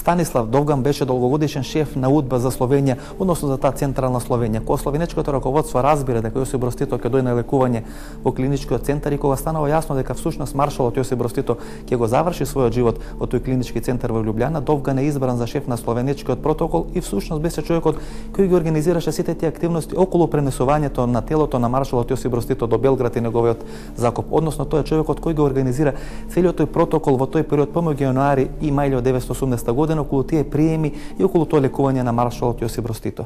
Станислав Довган беше долгогодишен шеф на УДБА за Словенија, односно за таа централна Словенија. Кога словенечкото раководство разбира дека Јосип Брз Тито ќе дојде на лекување во клиничкиот центар и кога станува јасно дека всушност маршалот Јосип Брз Тито ќе го заврши својот живот во тој клинички центар во Лјубљана, Довган е избран за шеф на словенечкиот протокол и всушност беше човекот кој ги организираше сите тие активности околу пренесувањето на телото на маршалот Јосип Брз Тито до Белград и неговиот закоп. Односно тој е човекот кој го организира целиот тој протокол во тој период помеѓу јануари и мај 1980 година околу тие приеми и околу тоа лекување на маршалот Јосип Брз Тито.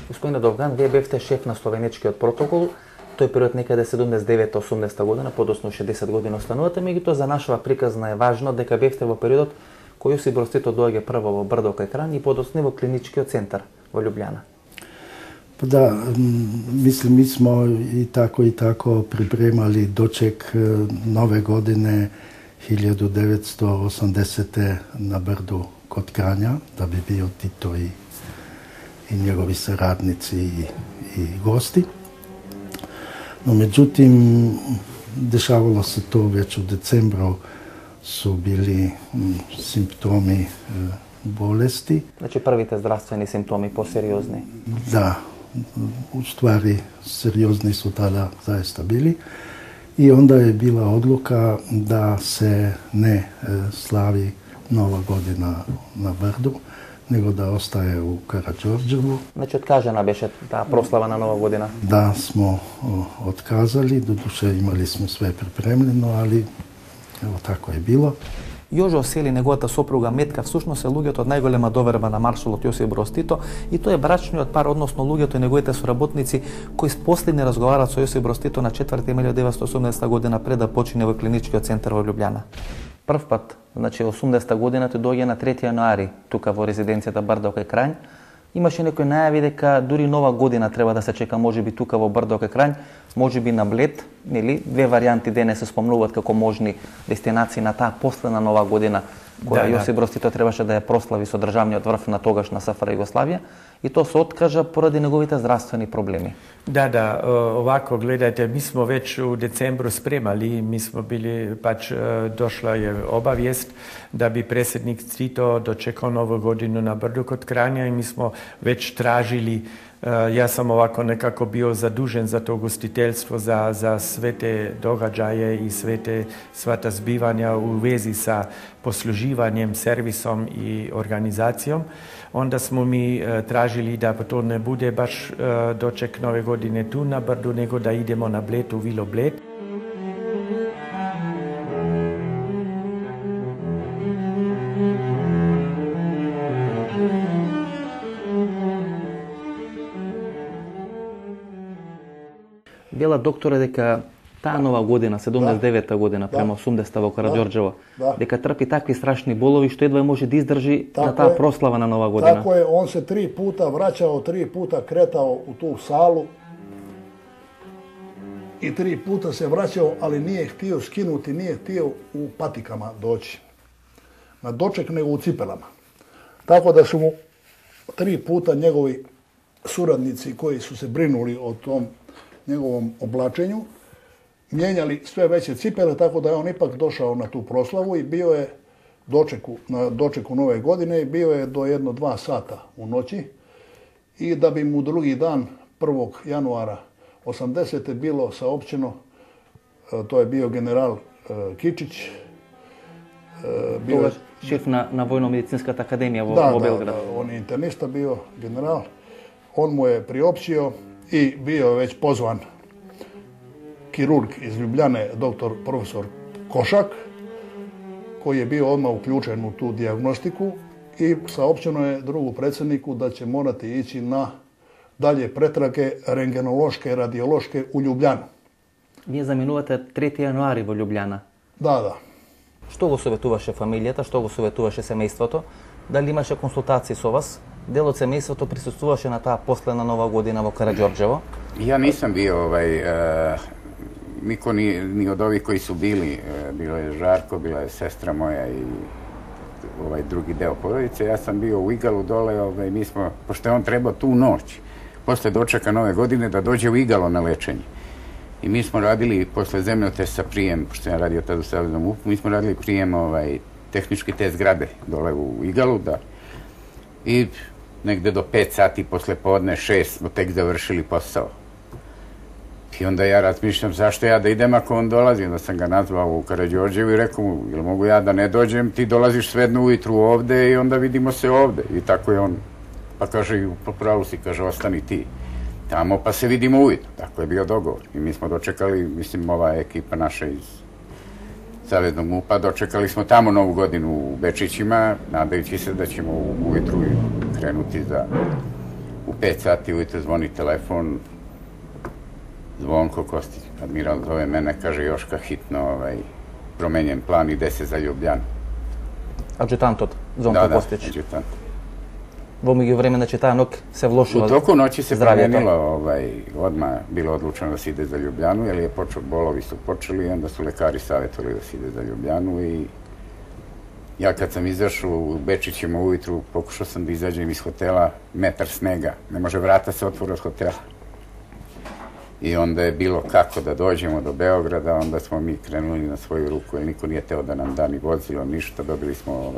Господине Довган, вие бевте шеф на словенечкиот протокол, тој период некаде 79-80 година, подоцна 60 години останувате, меѓутоа за нашава приказна е важно дека бевте во периодот кој Јосип Брз Тито доаѓа прво во Брдо кај Крањ и подоцна во клиничкиот центар во Лјубљана. Да, мислим, ми смо и тако припремали дочек нове године 1980 на Брду код Крања, да би био Тито и негови сарадници и гости. Но меѓутим, дешавало се тоа веќе од децембро, су били симптоми болести. Значи првите здравствени симптоми посериозни? Да, уствари сериозни су тада заеста били. И онда е била одлука да се не слави Нова година на Брду, него да остае у Караџорџево. Значи откажана беше таа прослава на Нова година? Да, смо отказали, додуше имали сме све припремljeno, али ево тако е било. Јожо Сели, неговата сопруга Метка, всушност е луѓето од најголема доверба на маршалот Јосип Броз Тито и тој е брачниот пар, односно луѓето и неговите соработници кои последни разговарат со Јосип Броз Тито на 4 мај 1980 година пред да почине во клиничкиот центар во Лјубљана. Прв пат, значи 80 година, тој доаѓа на 3 јануари тука во резиденцијата Брдо кај Крањ. Имаше некои најави дека дури Нова година треба да се чека, можеби тука во Брдо кај Крањ, можеби на Блед, нели? Две варијанти денес се спомнуваат како можни дестинации на таа последна Нова година, која Јосип Броз Тито требаше да ја прослави со државниот врв на тогашна СФР Југославија, и тоа се откажа поради неговите здравствени проблеми. Да, овако гледајте, ми смо веќе у децембру спремали, ми смо били, дошла е обавиест да би преседник Тито дочекал Нова годину на Брду код Крања и ми смо веќе тражили. Јас сам овако некако био задужен за тоа гостителство, за свете догаѓаје и свата збивања у вези са послуживањем, сервисом и организацијом. Онда смо ми тражили да тоа не буде баш дочек Нове године ту на Брду, него да идемо на Блед, у Вило Блед. Бела доктора дека таа Нова година, 79-та година, према 80-та во Караџорџево, дека трпи такви страшни болови што едва може да издржи на таа прослава на Нова година. Тако е, он се 3 пута враќао, 3 пута кретао у ту салу и 3 пута се враќао, али nije htio skinuti, nije htio u patikama doći. Na doček nego u cipelama. Tako da su mu 3 puta njegovi suradnici koji su se brinuli o tom njegovom oblačenju, mijenjali sve veće cipele, tako da je on ipak došao na tu proslavu i bio je na dočeku Nove godine i bio je do 1-2 sata u noći i da bi mu drugi dan, 1. januara 80. bilo saopćeno, to je bio general Kičić, bio šef na Vojno-medicinskата akademija u Belgradu. Da, on je internista bio, general. On mu je priopćio i bio je već pozvan kirurg iz Ljubljane, doktor profesor Košak, koji je bio odmah uključen u tu dijagnostiku i saopćeno je drugu predsjedniku da će morati ići na dalje pretrage rengenološke, radiološke u Ljubljanu. Вие заминувате 3 јануари во Лјубљана. Да. Што го советуваше фамилијата, што го советуваше семејството? Дали имаше консултации со вас? Дел од семејството присуствуваше на таа последна Нова година во Караџорџево? Ja nisam bio niko ni od ovih koji su bili, bilo je Žarko, bila je sestra moja i drugi deo porodice. Ja sam bio u Igalu dole, mi smo, pošto je on trebao tu noć, posle dočeka Nove godine, da dođe u Igalo na lečenje. I mi smo radili posle zemljotesa prijem, pošto sam radio tada u Saveznom MUP-u, mi smo radili prijem tehnički test zgrade dole u Igalu, I negde do 5 sati posle podne, 6 smo tek završili posao. I onda ja razmišljam zašto ja da idem ako on dolazi. Onda sam ga nazvao u Karađorđevu i rekao mu, jel mogu ja da ne dođem, ti dolaziš svedno ujutru ovde i onda vidimo se ovde. I tako je on, pa kaže, po pravu si, kaže, ostani ti tamo pa se vidimo ujutru. Tako je bio dogovor. I mi smo dočekali, mislim, ova ekipa naša iz Saveznog MUP-a, dočekali smo tamo Novu godinu u Bečićima, nadajući se da ćemo ujutru krenuti u 5 sati ujutru zvoni telefon, Zvonko Kostić, admiral zove mene, kaže Joška hitno promenjen plan, ide se za Ljubljanu. Аджутантот Звонко Костич. Да, аджутант. Во меѓувреме, значи таа ног се влошува. У току ноќи се променило, одма било одлучено да се иде за Ljubljanu, jer je bolovi su počeli i onda su lekari savjetovali da se ide za Ljubljanu i ja kad sam izašao u Bečićima ujutru, pokušao sam da izađem iz hotela, metar snega, ne može vrata se otvore od hotela. I onda je bilo kako da dođemo do Beograda, onda smo mi krenuli na svoju ruku, jer niko nije teo da nam da ni vozilo, ništa, dobili smo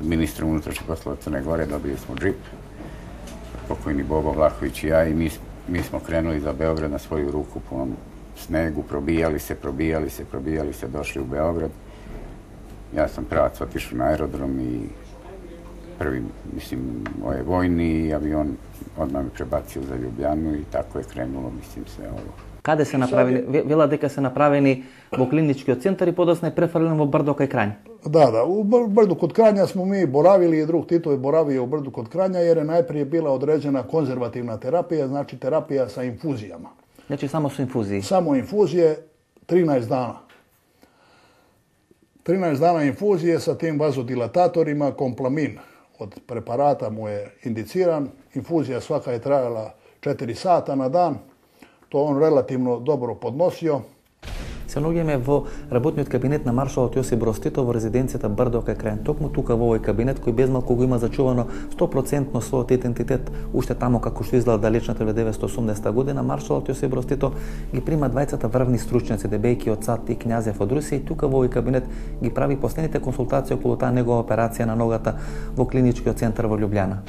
ministra unutrašnjih poslova Crne Gore, dobili smo džip, pokojni Bobo Vlahović i ja, i mi smo krenuli za Beograd na svoju ruku po onom snegu, probijali se, došli u Beograd. Ja sam pravac otišao na aerodrom i prvi, mislim, vojni avion odmah mi prebacio za Ljubljanu i tako je krenulo, mislim, sve ovo. Каде се направени? Вела дека се направени во клиничкиот центар и подосна е префрлен во Брдо кај Кранј. Da, u Brdu kod Kranja smo mi boravili i drug Tito je boravio u Brdu kod Kranja jer je najprije bila određena konzervativna terapija, znači terapija sa infuzijama. Значи само со инфузии. Samo infuzije 13 dana. 13 dana infuzije sa tim vazodilatatorima, komplamin od preparata mu je indiciran. Infuzija svaka je trajala 4 sata na dan. To on relativno dobro podnosio. Се наоѓаме во работниот кабинет на маршалот Јосип Брз Тито во резиденцијата Брдо кај Крајн. Токму тука во овој кабинет кој без малку го има зачувано 100% својот идентитет уште тамо како што изгледа далечната 1980 година, маршалот Јосип Брз Тито ги прима двајцата врвни стручњаци Дебејки од САД и Књазев од Русија и тука во овој кабинет ги прави последните консултации околу таа негова операција на ногата во клиничкиот центар во Љубљана.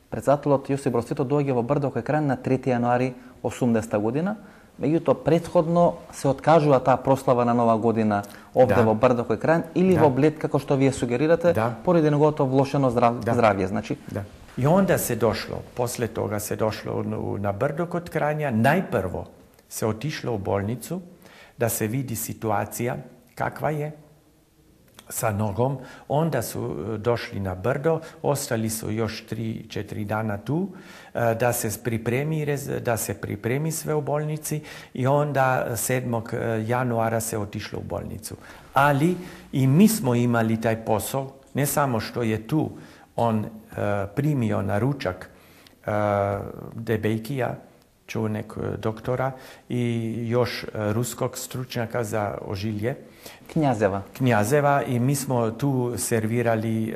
Председателот Јосип Брз Тито доаѓа во Брдо кај Крајн на 3 јануари 80 година. Меѓутоа, предходно се откажува таа прослава на Нова година овде во Брдо кај Крајн или во Блед, како што вие сугерирате, поради неговото влошено здравје, значи. Да. И онда се дошло, после тога се дошло на Брдо код Крања, најпрво се отишло у болницу да се види ситуација каква е sa nogom, onda su došli na Brdo, ostali su još 3-4 dana tu, da se pripremi sve u bolnici i onda 7. januara se otišlo u bolnicu. Ali i mi smo imali taj posao, ne samo što je tu on primio na ručak Debejkija, čuvenek doktora i još ruskog stručnjaka za ožilje, Kњazeva i mi smo tu servirali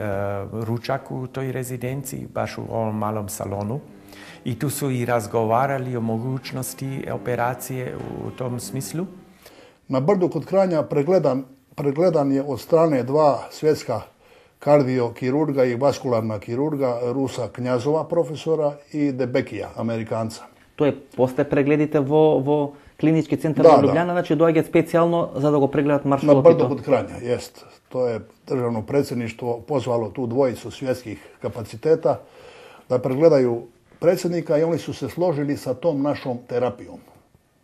ručak u toj rezidenciji, baš u ovom malom salonu. I tu su i razgovarali o mogućnosti operacije u tom smislu. Na Brdu kod Kranja pregledan je od strane 2 svjetska kardiokirurga i vaskularna kirurga, Rusa Kњazova profesora i Debekija, Amerikanca. To je posle preglедите во клинички центар во Ljubljana, znači dođe specijalno za da go pregledat maršalot Tito. Na Brdo kod Kranja, jest. To je državno predsjedništvo pozvalo tu dvojicu svjetskih kapaciteta da pregledaju predsjednika i oni su se složili sa tom našom terapijom.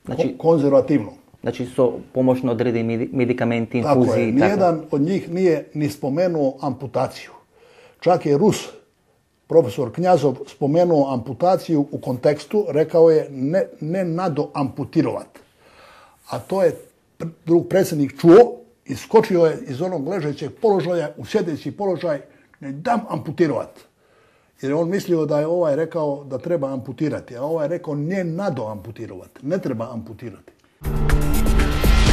Znači, konzervativnom. Znači su pomoćno odredi medikamenti, infuziji. Tako je. Nijedan od njih nije ni spomenuo amputaciju. Čak je Rus, profesor Kњazov, spomenuo amputaciju u kontekstu, rekao je ne nadoamputirovat. A to je drug predsjednik čuo, iskočio je iz onog ležećeg položaja u sjedeći položaj, ne dam amputirovat. Jer je on mislio da je ovaj rekao da treba amputirati, a ovaj je rekao ne nadoamputirovat, ne treba amputirati.